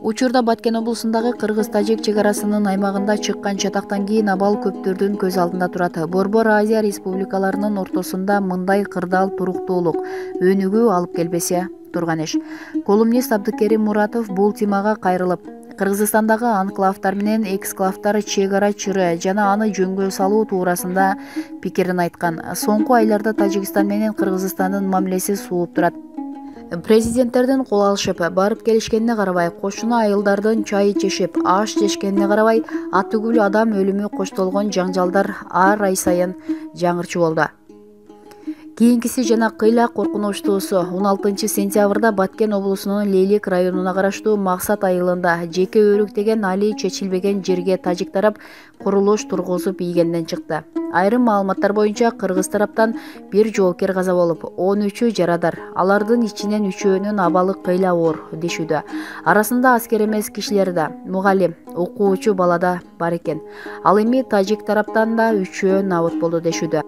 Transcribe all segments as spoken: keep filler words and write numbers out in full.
Учурда Баткен облусундагы кыргыз-тажик чек арасынын аймагында чыккан чатактан кийин абал көптөрдүн көз алдында турат. Борбор Азия республикаларынын ортосунда мындай кырдаал туруктуулук өнүгүү алып келбесе турган иш. Колумнист Абдыкерим Муратов бул темага кайрылып, Кыргызстандагы анклавдар менен эксклавдар чек ара чыры жана аны жөнгө салуу туурасында пикирин айткан. Соңку айларда Тажикстан менен Кыргызстандын мамилеси сууп турат. Президенттердин кол алышып, барып келишкенине карабай, кошуна айылдардын чай ичишип, аш жешкенине карабай, атүгүл адам өлүмү коштолгон жаңжалдар ар ай сайын жаңырчу болду. Кийинкиси жана кыйла коркунучтуусу он алтынчы сентябрда Баткен облусунун Лейлик районуна караштуу Максат айылында жеке өрүктеген али чечилбеген жерге тажик тарап курулуш тургузуп ийгенден чыкты. Айрым маалыматтар боюнча кыргыз тараптан бир жоокер каза болуп, он үчү жарадар. Алардын ичинен үчөөнүн абалы кыйла оор дешүүдө. Арасында аскер эмес кишилер да, мугалим, окуучу бала да бар экен. Ал эми тажик тараптан да үчөө набыт болду дешүүдө.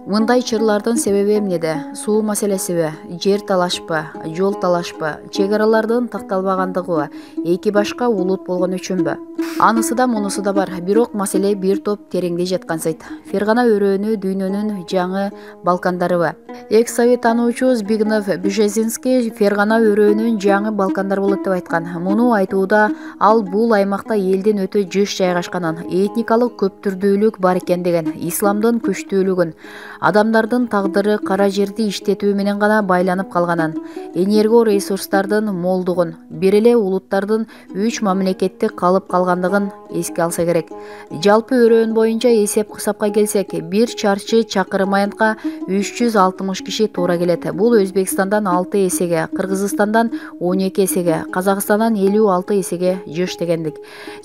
Мындай чырлардын себеби эмнеде? Суу маселесиби, жер талашпы, жол талашпы, чек аралардын такталбагандыгыбы, эки башка улут болгон үчүнбү? Анысы да мунусу да бар, бирок маселе бир топ тереңде жаткансайт. Фергана өрөөнү дүйнөнүн жаңы Балкандарыбы? Экс-совет таануучу Збигнев Бжезинский Фергана өрөөнүн жаңы Балкандар болот деп айткан. Муну айтууда ал бул аймакта элдин өтө жыш жайгашканын, этникалык көптүрдүүлүк бар экен деген, исламдын күчтүүлүгүн, адамдардын тагдыры кара жерди иштетүү менен гана байланып калганын, энерго ресурстардын молдугун, бир эле улуттардын үч мамлекетте калып калгандыгын эске алса керек. Жалпы өрөөн боюнча эсеп-кысапка келсек, бир чарчы чакырым аянтка үч жүз алтымыш киши туура келет. Бул Өзбекстандан алты эсеге, Кыргызстандан он эки эсеге, Казакстандан элүү алты эсеге жыш дегендик.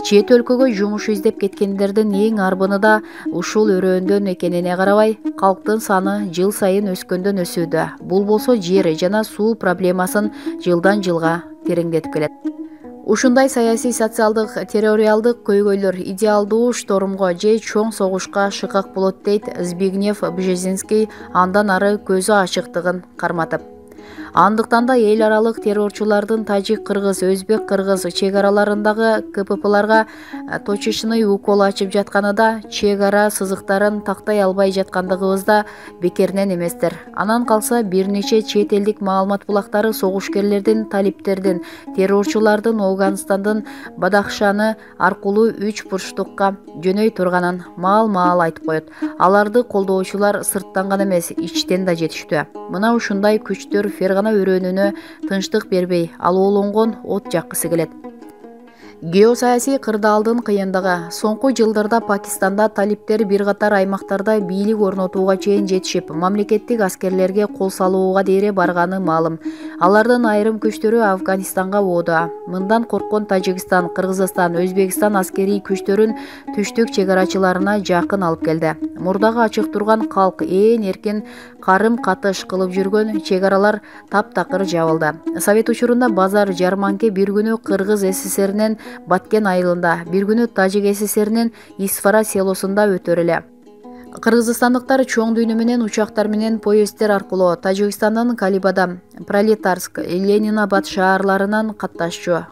Чет өлкөгө жумуш издеп кеткендердин эң арбыны да ушул өрөөндөн экенине карабай, калктын саны жыл сайын өскөндөн өсүүдө. Бул болсо жер жана суу проблемасын жылдан жылга тереңдетип келет. Ушундай саясий, социалдык, территориалдык көйгөйлөр идеалдуу штормго же чоң согушка шыкак болот дейт Збигнев Бжезинский андан ары көзү ачыктыгын карматып. Андыктан да эл аралык террорчулардын тажик, кыргыз, өзбек, кыргыз чек араларындагы КППларга точечный укол ачып жатканы да, чек ара сызыктарын тактай албай жаткандыгыбызда бекеринен эместер. Анан калса бир нече чет элдик маалымат булактары согушкерлердин, талиптердин, террорчулардын Афганистандын Бадахшаны аркылуу үч бурчтукка жөнөй турганын маал-маал айтып коет. Аларды колдоочулар сырттан гана эмес, ичтен да жетиштүү. Мына ушундай күчтөр Фергана өрөөнүнө тынчтык бербей, алоолонгон от жаккысы келет. Геосаясий кырдаалдын кыйындыгы. Соңку жылдарда Пакистанда талиптер бир катар аймактарда бийлик орнотууга чейин жетишип, мамлекеттик аскерлерге кол салууга дейре барганы маалым. Алардын айрым күчтөрү Афганистанга оодо. Мындан корккон Тажикстан, Кыргызстан, Өзбекстан аскерий күчтөрүн түштүк чек арачыларына жакын алып келди. Мурдагы ачык турган калк ээн эркин карым катыш кылып жүргөн чек аралар таптакыр жабылды. Совет учурунда базар жарманке бир күнү Кыргыз СССРинен Баткен айылында, бир күнү Тажик СССРинен Исфара селосунда өтөр эле. Кыргызстандыктар чоң дүйнө менен учактар менен поезддер аркылуу Тажикстандын Калибада, Пролетарск, Ленинабад шаарларынан катташчу.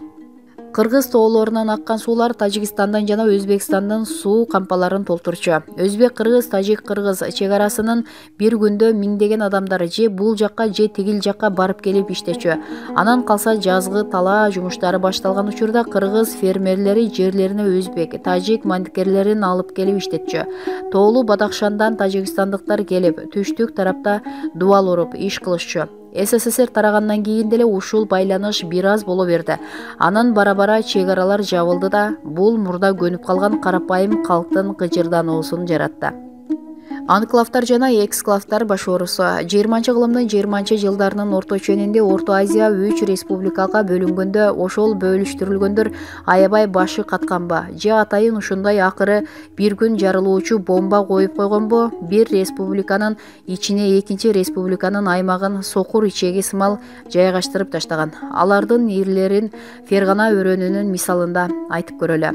Кыргыз тоолорунан аккан суулар Тажикстандан жана Өзбекстандын суу кампаларын толтурчу. Өзбек-кыргыз, тажик-кыргыз чек арасынын бир күндө миңдеген адамдар же бул жакка же тигил жакка барып келип иштечү. Анан калса жазгы талаа жумуштары башталган учурда кыргыз фермерлери жерлерине өзбек, тажик мандикерлерин алып келип иштетчү. Тоолуу Бадахшандан тажикстандыктар келип, түштүк тарапта дубал уруп иш кылышчу. СССР тарагандан кийин деле ушул байланыш бир аз боло берди. Анан бара-бара чек аралар жабылды да, бул мурда көнүп калган карапайым калктын кыжырдануусун жаратты. Анклавдар жана эксклавдар башоорусу жыйырманчы кылымдын жыйырманчы жылдарынын орто ченинде Орто Азия үч республикага бөлүнгөндө ошол бөлүштүрүлгөндөр аябай башы катканбы же атайын ушундай акыры бир күн жарылуучу бомба коюп койгонбу, бир республиканын ичине экинчи республиканын аймагын сокур ичеги сымал жайгаштырып таштаган. Алардын ирлерин Фергана өрөөнүнүн мисалында айтып көрөлү.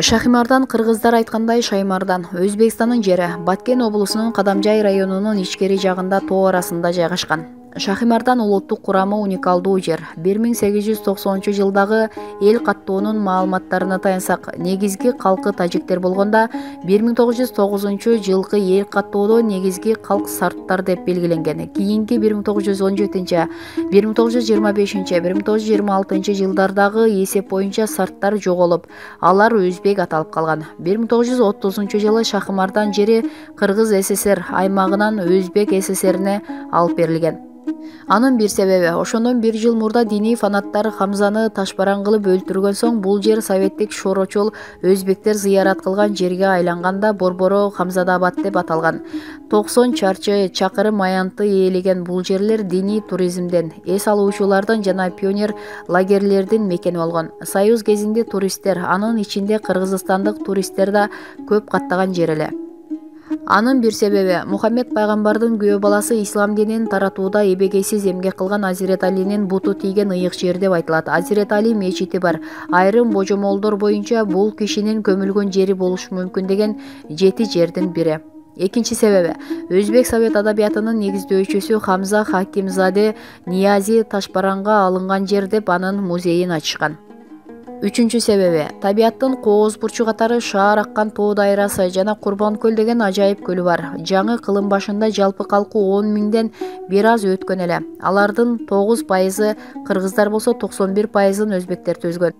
Шахимардан кыргыздар айткандай Шаймардан. Өзбекстандын жери Баткен облусунун Кадамжай районунун ичкери жагында тоо арасында жайгашкан. Шахимардан улуттук курамы уникалдуу жер. бир миң сегиз жүз токсонунчу жылдагы эл каттоонун маалыматтарына таянсак, негизги калкы тажиктер болгондо бир миң тогуз жүз тогузунчу жылкы эл каттоодо негизги калк сарттар деп белгиленген. Кийинки бир миң тогуз жүз он жетинчи, бир миң тогуз жүз жыйырма бешинчи, бир миң тогуз жүз жыйырма алтынчы жылдардагы эсеп боюнча сарттар жоголуп, алар өзбек аталып калган. бир миң тогуз жүз отузунчу жылы Шахимардан жери Кыргыз ССР аймагынан Өзбек ССРине алып берилген. Анын бир себеби, ошондон бир жыл мурда диний фанаттар Хамзаны ташбаран кылып өлтүргөн соң бул жер советтик шорочол өзбектер зыярат кылган жерге айланганда Борборо Хамзадабад деп аталган. токсон чарчы чакырым аянтты ээлеген бул жерлер диний туризмден, эс алуучулардын жана пионер лагерлердин мекени болгон. Союз кезинде туристтер, анын ичинде кыргызстандык туристтер да көп каттаган жер эле. Анын бир себеби, Мухаммед пайгамбардын күйөө баласы ислам динин таратууда эбегейсиз эмгек кылган Азирет Алинин буту тийген ыйык жер деп айтылат. Азирет Али мечити бар. Айрым божомолдор боюнча бул кишинин көмүлгөн жери болушу мүмкүн деген жети жердин бири. Экинчи себеби, Өзбек совет адабиятынын негиздөөчүсү Хамза Хакимзаде Ниязи ташбаранга алынган жер деп анын музейин ачышкан. Үчүнчү себеби, табияттын кооз бурчу катары шаар аккан тоо дайрасы жана Курбанкөл деген ажайып көлү бар. Жаңы кылым башында жалпы калкы он миңден бир аз өткөн эле. Алардын тогуз пайызы кыргыздар болсо, токсон бир пайызын өзбектер түзгөн.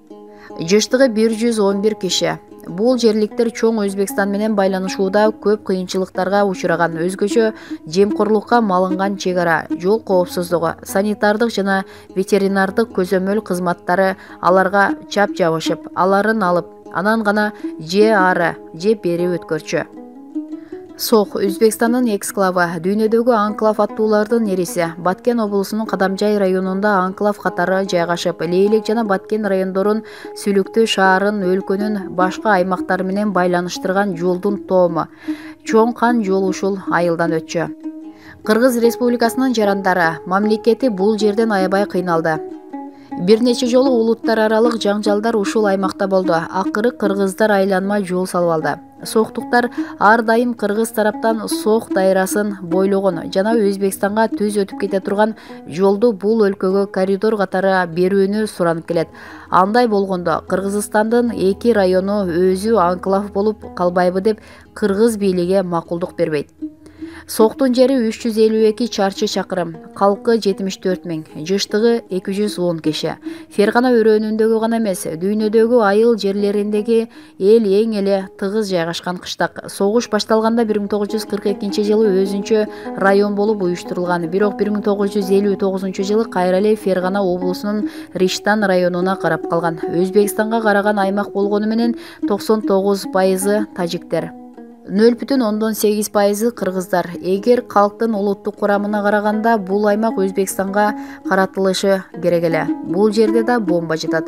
Жыштыгы бир жүз он бир киши. Бул жерликтер чоң Өзбекстан менен байланышууда көп кыйынчылыктарга учураган. Өзгөчө жемкорлукка малынган чек ара, жол коопсуздугу, санитардык жана ветеринардык көзөмөл кызматтары аларга чап жабышып, аларын алып, анан гана же ары, же бери өткөрчү. Сох Өзбекстандын эксклавы, дүйнөдөгү анклав аттуулардын нериси. Баткен облусунун Кадамжай районунда анклав катары жайгашып, Лейлек жана Баткен райондорун Сүлүктүү шаарын өлкөнүн башка аймактары менен байланыштырган жолдун тоому. Чоң кан жол ушул айылдан өтчү. Кыргыз Республикасынын жарандары, мамлекети бул жерден аябай кыйналды. Бир нече жолу улуттар аралык жаңжалдар ушул аймакта болду. Акыры кыргыздар айланма жол салып алды. Соктуктар ар дайым кыргыз тараптан Сох дайрасын бойлогон жана Өзбекстанга түз өтүп кете турган жолду бул өлкөгө коридор катары берүүнү суранып келет. Андай болгондо Кыргызстандын эки району өзү анклав болуп калбайбы деп кыргыз бийлиги макулдук бербейт. Соктун жери үч жүз элүү эки чарчы чакырым, калкы жетимиш төрт миң, жыштыгы эки жүз он киши. Фергана өрөөнүндөгү гана эмес, дүйнөдөгү айыл жерлериндеги эл эң эле тыгыз жайгашкан кыштак. Согуш башталганда бир миң тогуз жүз кырк экинчи жылы өзүнчө район болуп уюштурулган. Бирок бир миң тогуз жүз элүү тогузунчу жылы кайра эле Фергана облусунун Риштан районуна карап калган. Өзбекстанга караган аймак болгону менен токсон тогуз пайызы тажиктер. нөл бүтүн ондон сегиз пайызы кыргыздар. Эгер калктын улуттук курамына караганда бул аймак Өзбекстанга каратылышы керек эле. Бул жерде да бомба жатат.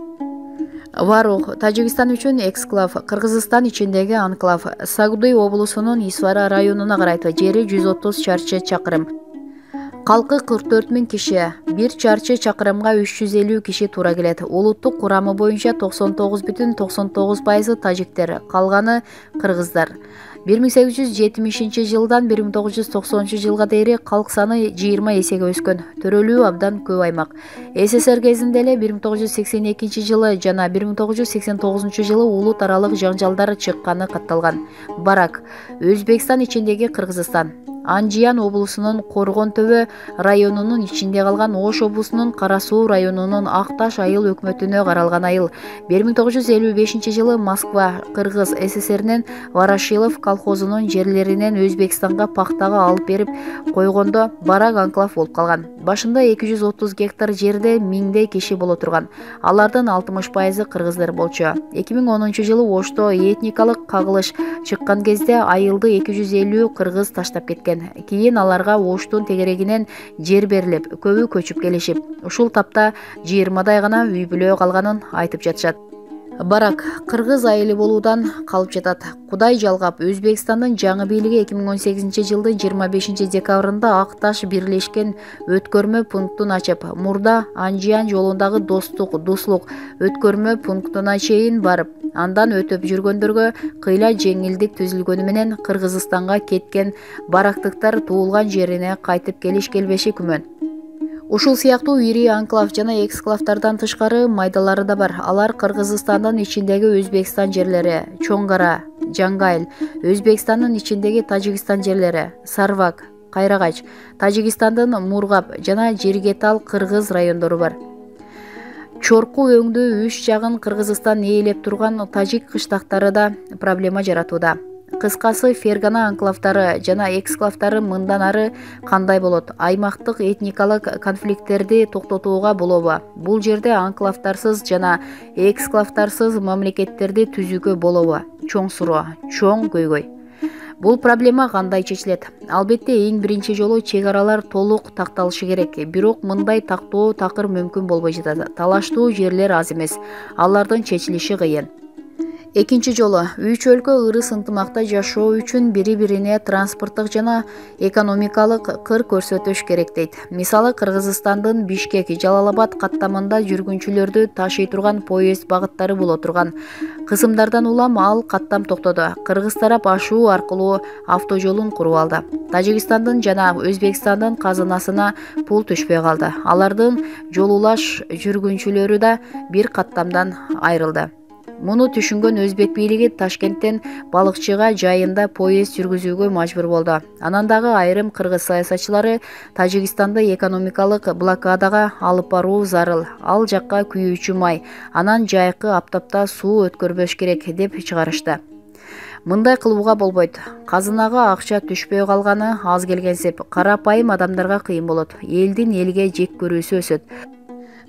Варух Тажикстан үчүн эксклав, Кыргызстан ичиндеги анклав. Сагдуй облусунун Исвара районуна карайт, жери жүз отуз чарчы чакырым. Калкы кырк төрт миң киши, бир чарчы чакырымга үч жүз элүү киши туура келет. Улуттук курамы боюнча токсон тогуз бүтүн токсон тогуз пайызы тажиктер, калганы кыргыздар. бир миң сегиз жүз жетимишинчи жылдан бир миң тогуз жүз токсонунчу жылга дейин калк саны жыйырма эсеге өскөн. Төрөлүү абдан көп аймак. СССР кезинде эле бир миң тогуз жүз сексен экинчи жылы жана бир миң тогуз жүз сексен тогузунчу жылы улут аралык жаңжалдар чыкканы катталган. Барак Өзбекстан ичиндеги Кыргызстан. Анжиян облусунун Коргон төбө районунун ичинде калган, Ош облусунун Кара Суу районунун Ак Таш айыл өкмөтүнө каралган айыл. бир миң тогуз жүз элүү бешинчи жылы Москва Кыргыз ССРинин Ворошилов колхозунун жерлеринен Өзбекстанга пактага алып берип койгондо Барак анклав болуп калган. Башында эки жүз отуз гектар жерде миңдей киши боло турган. Алардын алтымыш пайызы кыргыздар болчу. эки миң онунчу жылы Ошто этникалык кагылыш чыккан кезде айылды эки жүз элүү кыргыз таштап кеткен. Кийин аларга Оштун тегерегинен жер берилип, көбү көчүп келишип, ушул тапта жыйырмадай гана үй бүлө калганын айтып жатышат. Барак кыргыз айылы болуудан калып жатат. Кудай жалгап, Өзбекстандын жаңы бийлиги эки миң он сегизинчи жылдын жыйырма бешинчи декабрында Ак Таш бирлешкен өткөрмө пунктун ачып, мурда Анжиан жолундагы достук, дуслук өткөрмө пунктуна чейин барып, андан өтүп жүргөндөргө кыйла жеңилдик түзүлгөнү менен Кыргызстанга кеткен барактыктар туулган жерине кайтып келиш келбеши күмөн. Ушул сыяктуу ири анклав жана эксклавдардан тышкары майдалары да бар. Алар Кыргызстандын ичиндеги Өзбекстан жерлери, Чоңгара, Жаңгайыл, Өзбекстандын ичиндеги Тажикстан жерлери, Сарвак, Кайрагач, Тажикстандын Мургап жана Жергетал кыргыз райондору бар. Чорку өңдүү үч жагын Кыргызстан ээлеп турган тажик кыштактары да проблема жаратууда. Кыскасы, Фергана анклавдары жана эксклавдары мындан ары кандай болот? Аймактык этникалык конфликттерди токтотууга болобу? Бул жерде анклавдарсыз жана эксклавдарсыз мамлекеттерди түзүүгө болобу? Чоң суроо, чоң көйгөй. Бул проблема кандай чечилет? Албетте, эң биринчи жолу чек аралар толук такталышы керек. Бирок мындай тактоо такыр мүмкүн болбой жатат. Талаштуу жерлер аз эмес. Алардын чечилиши кыйын. Экинчи жолу үч өлкө ырыс ынтымакта жашоо үчүн бири-бирине транспорттук жана экономикалык кыр көрсөтүш керек дейт. Мисалы, Кыргызстандын Бишкек, Жалал-Абад каттамында жүргүнчүлөрдү ташый турган поезд багыттары боло турган кысымдардан улам ал каттам токтоду. Кыргыз тарап ашуу аркылуу автожолун куруп алды. Тажикстандын жана Өзбекстандын казынасына пул түшпөй калды. Алардын жол улаш жүргүнчүлөрү да бир каттамдан айрылды. Муну түшүнгөн Өзбек бийлиги Ташкенттен балыкчыга жайында поезд жүргүзүүгө мажбур болду. Анан дагы айрым кыргыз саясатчылары Тажикстанды экономикалык блокадага алып баруу зарыл. Ал жакка күйүүчү май, анан жайкы аптапта суу өткөрбөш керек деп чыгарышты. Мындай кылууга болбойт. Казынага акча түшпөй калганы аз келгенсип, карапайым адамдарга кыйын болот. Элдин элге жек көрүүсү өсөт.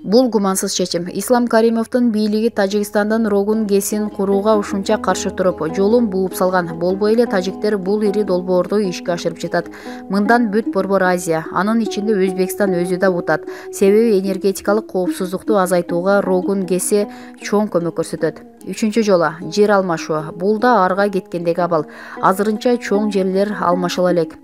Бул гумансыз чечим. Ислам Каримовдун бийлиги Тажикстандын Рогун ГЭСин курууга ушунча каршы туруп, жолун бууп салган. Болбой эле тажиктер бул ири долбоорду ишке ашырып жатат. Мындан бүт Борбор Азия, анын ичинде Өзбекстан өзү да утат. Себеби энергетикалык коопсуздукту азайтууга Рогун ГЭСи чоң көмөк көрсөтөт. Үчүнчү жолу жер алмашуу. Бул да арга кеткендеги абал. Азырынча чоң жерлер алмашыла элек.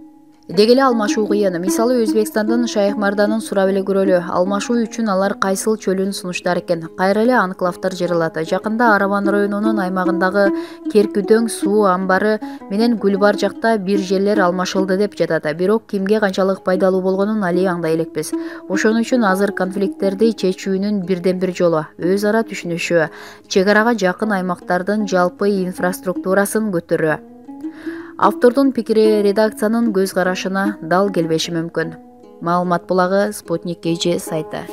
Деги эле алмашуу кыйын. Мисалы, Өзбекстандын Шайх-Марданын сурап эле көрөлү. Алмашуу үчүн алар кайсыл чөлүн сунуштар экен. Кайра эле анклавдар жаралат. Жакында Араван районунун аймагындагы Керкүдөң суу амбары менен Гүлбар жакта бир жерлер алмашылды деп жатат. Бирок кимге канчалык пайдалуу болгонун али аңдай элекпиз. Ошон үчүн азыр конфликттерди чечүүнүн бирден бир жолу өз ара түшүнүшүү, чек арага жакын аймактардын жалпы инфраструктурасын көтөрүү. Автордун пикири редакциянын көз карашына дал келбеши мүмкүн. Маалымат булагы Спутник кей же сайты.